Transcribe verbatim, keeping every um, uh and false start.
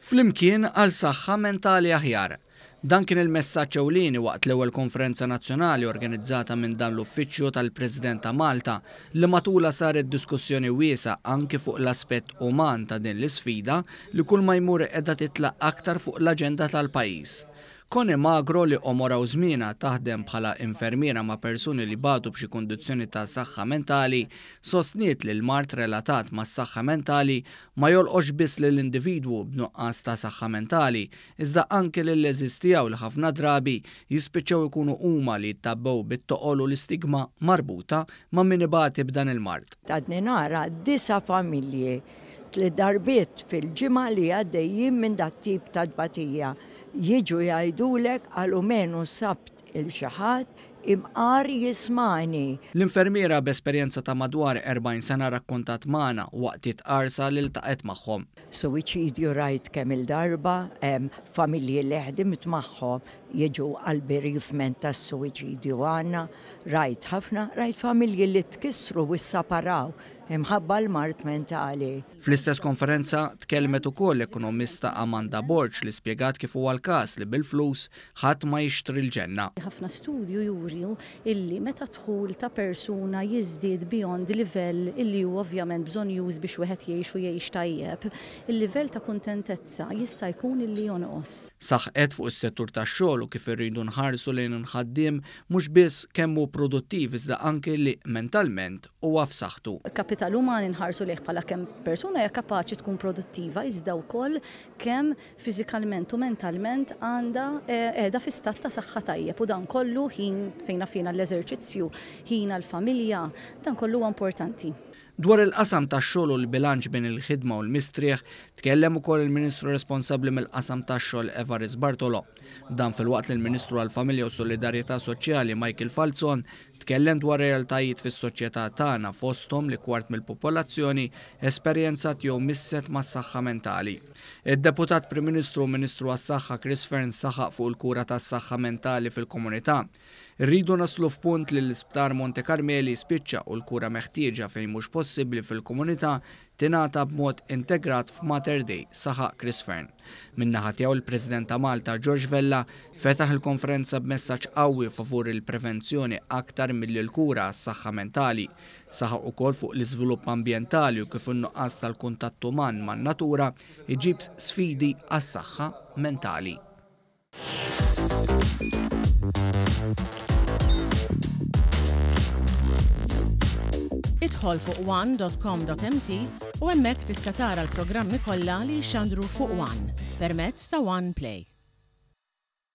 Flimkien għal saħħa mentali aħjar. Dan kien il-messaġġ ewlieni waqt l-ewwel konferenza nazzjonali organizzata minn dan l-Uffiċċju tal-President ta' Malta, li matula saret diskussjoni wiesgħa anki fuq l-aspett uman ta' din l-isfida li kull ma jmur qiegħda titla' aktar fuq l-aġenda tal-pajjiż. Connie Magro, li għomorha u żmienha taħdem bħala infermiera ma' persuni li batu b'xi kundizzjoni ta' saħħa mentali, sostniet li l-mard relatat ma' saħħa mentali ma jolqox biss lill-individwu b'nuqqas ta' saħħa mentali, iżda anke lill-għeżież tiegħu li ħafna drabi jispiċċaw ikunu huma li jittabbew bit-toqol u l-istigma marbuta ma' min ibati b'dan il-mard. Għadni nara disa' familji tliet darbiet fil-ġimgħa li għaddejjin minn dat tip ta' tbatija. Jiġu jgħidulek għalmenu sibt 'il xi ħadd imqar jismagħni. L-infermiera b'esperjenza ta' madwar erbgħin sena rakkontat magħna waqt qarsa li ltaqgħet magħhom. Suwiċidju rajt kemm il-darba, familji li ħdimt magħhom jiġu għal bereavement tas-suwiċidju għandna, rajt ħafna, rajt familji li tkissru u ssaparaw imħabba l-mard mentali. Fl-istess konferenza tkellmet ukoll l-ekonomista Amanda Borg, li spjegat kif huwa l-każ li bil-flus ħadd ma jixtri l-ġenna. Ħafna studju juru illi meta dħul ta' persuna jiżdied beyond livell illi hu ovvjament bżonnjuż biex wieħed jgħix u jgħix tajjeb, il-livell ta' kuntentezza jista' jkun illi jonqos. Saħqet fuq is-settur tax-xogħol u kif irridu nħarsu lejn il-ħaddiem mhux biss kemm hu produttiv, iżda anke li mentalment huwa f'saħħtu. Kapital uman inħarsu lejh bħala kemm persuna hija kapaċi tkun produttiva, iżda wkoll kemm fiżikalment u mentalment għandha qiegħda fi stat ta' saħħa tajjeb, u dan kollu ħin fejn fina l-eżerċizzju, ħin għall-familja, dan kollu huwa importanti. Dwar il-qasam tax-xogħol u l-bilanċ bejn il-ħidma u l-mistrieħ tkellem ukoll il-Ministru responsabbli mill-qasam tax-xogħol Evarist Bartolo. Dan filwaqt li l-Ministru għall-Familja u Solidarjetà Soċjali Michael Falzon tkellem dwar realtajiet fis-soċjetà tagħna, fosthom li kwart mill-popolazzjoni esperjenzat jew misset mas-saħħa mentali. Id-Deputat Prim Ministru u Ministru għas-Saħħa Chris Fearne saħaq fuq il-kura tas-saħħa mentali fil-komunità. Irridu naslu f'punt li l-Isptar Monte Carmeli spiċċa u l-kura meħtieġa fejn mhux possibbli fil-komunità tingħata b'mod integrat f'Mater Dei, saħaq Chris Fearne. Min-naħa tiegħu, il-President ta' Malta George Vella fetaħ il-konferenza b'messaġġ qawwi favur il-prevenzjoni aktar milli l-kura għas-saħħa mentali. Saħaq ukoll fuq l-iżvilupp ambjentali u kif in-nuqqas tal-kuntatt uman man-natura iġib sfidi għas-saħħa mentali. Idħol fuq one dot com dot M T u hemmhekk tista' tara l-programmi kollha li jxandru fuq One permezz ta' One Play.